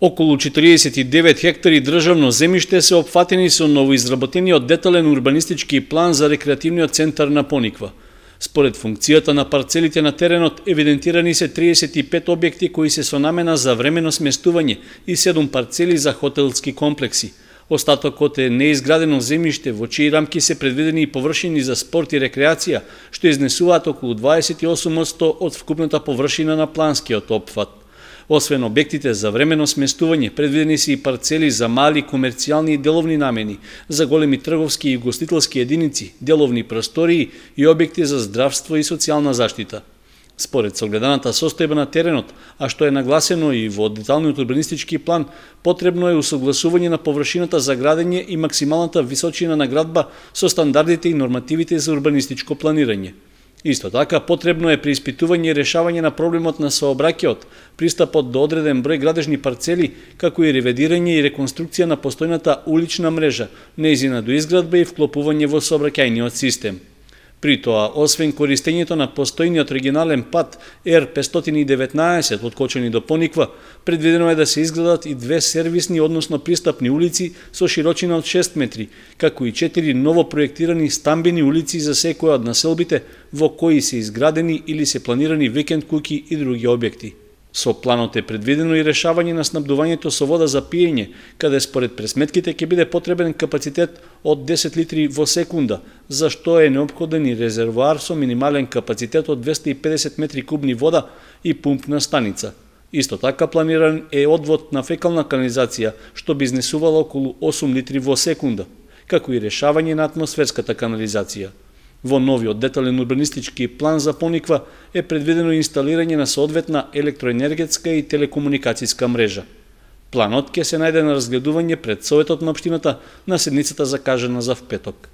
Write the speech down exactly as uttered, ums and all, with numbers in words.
Околу четириесет и девет хектари државно земјиште се опфатени со новоизработениот детален урбанистички план за рекреативниот центар на Пониква. Според функцијата на парцелите на теренот, евидентирани се триесет и пет објекти кои се со намена за времено сместување и седум парцели за хотелски комплекси. Остатокот е неизградено земјиште во чии рамки се предвидени и површини за спорт и рекреација, што изнесуваат околу дваесет и осум одсто од вкупната површина на планскиот опфат. Освен објектите за времено сместување, предвидени се и парцели за мали комерцијални и деловни намени, за големи трговски и гостителски единици, деловни простории и објекти за здравство и социјална заштита. Според согледаната состојба на теренот, а што е нагласено и во деталниот урбанистички план, потребно е усогласување на површината за градење и максималната височина на градба со стандардите и нормативите за урбанистичко планирање. Исто така, потребно е преиспитување и решавање на проблемот на сообраќајот, пристапот до одреден број градежни парцели, како и ревидирање и реконструкција на постојната улична мрежа, нејзина доизградба и вклопување во сообраќајниот систем. При тоа, освен користењето на постојниот регионален пат Ер петстотини и деветнаесет од Кочани до Пониква, предвидено е да се изградат и две сервисни, односно пристапни улици со широчина од шест метри, како и четири ново проектирани стамбени улици за секоја од населбите во кои се изградени или се планирани викенд куќи и други објекти. Со планот е предвидено и решавање на снабдувањето со вода за пиење, каде според пресметките ќе биде потребен капацитет од десет литри во секунда, за што е неопходен и резервоар со минимален капацитет од двесте и педесет метри кубни вода и пумпна станица. Исто така планиран е одвод на фекална канализација, што би изнесувало околу осум литри во секунда, како и решавање на атмосферската канализација. Во новиот детален урбанистички план за Пониква е предвидено инсталирање на соодветна електроенергетска и телекомуникацијска мрежа. Планот ќе се најде на разгледување пред Советот на општината на седницата закажана за впеток.